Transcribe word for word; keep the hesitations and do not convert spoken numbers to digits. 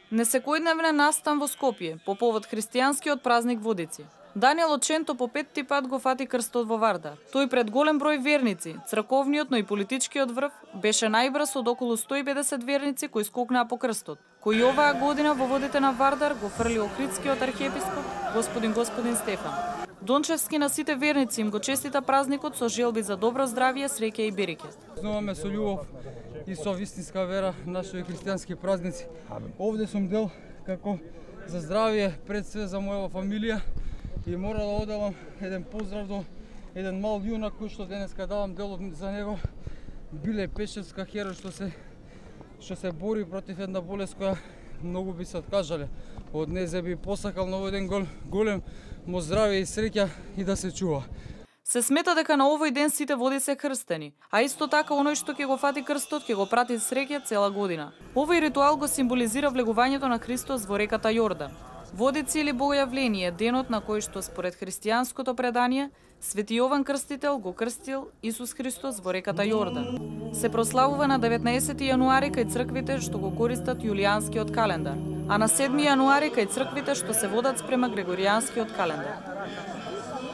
Несекојдневен настан во Скопје по повод христијанскиот празник Водици. Даниел Оченто по петти пат го фати крстот во Вардар. Тој пред голем број верници, црковниот, но и политичкиот врв, беше најбрз од околу сто и педесет верници кои скокнаа по крстот, кој оваа година во водите на Вардар го фрли Охридскиот архиепископ, господин господин Стефан. Дончевски на сите верници им го честита празникот со желби за добро здравје, среќа и береке. Знаваме со љубов и со вистинска вера нашите христијански празници. Овде сум дел како за здравје пред све за мојава фамилија и мора да оделам еден поздрав до еден мал јунак кој што денеска давам дел за него. Биле Пешевска херој што се што се бори против една болест која многу би се откажале од неј, за би посакал на еден гол, голем му здравје и среќа и да се чува. Се смета дека на овој ден сите води се крстени, а исто така оној што ќе го фати крстот ќе го прати среќа цела година. Овој ритуал го символизира влегувањето на Христос во реката Јордан. Водици или Богојавление е денот на кој што според христијанското предание Свети Јован Крстител го крстил Исус Христос во реката Јордан. Се прославува на деветнаесети јануари кај црквите што го користат јулијанскиот календар, а на седми јануари кај црквите што се водат спрема Грегоријанскиот календар.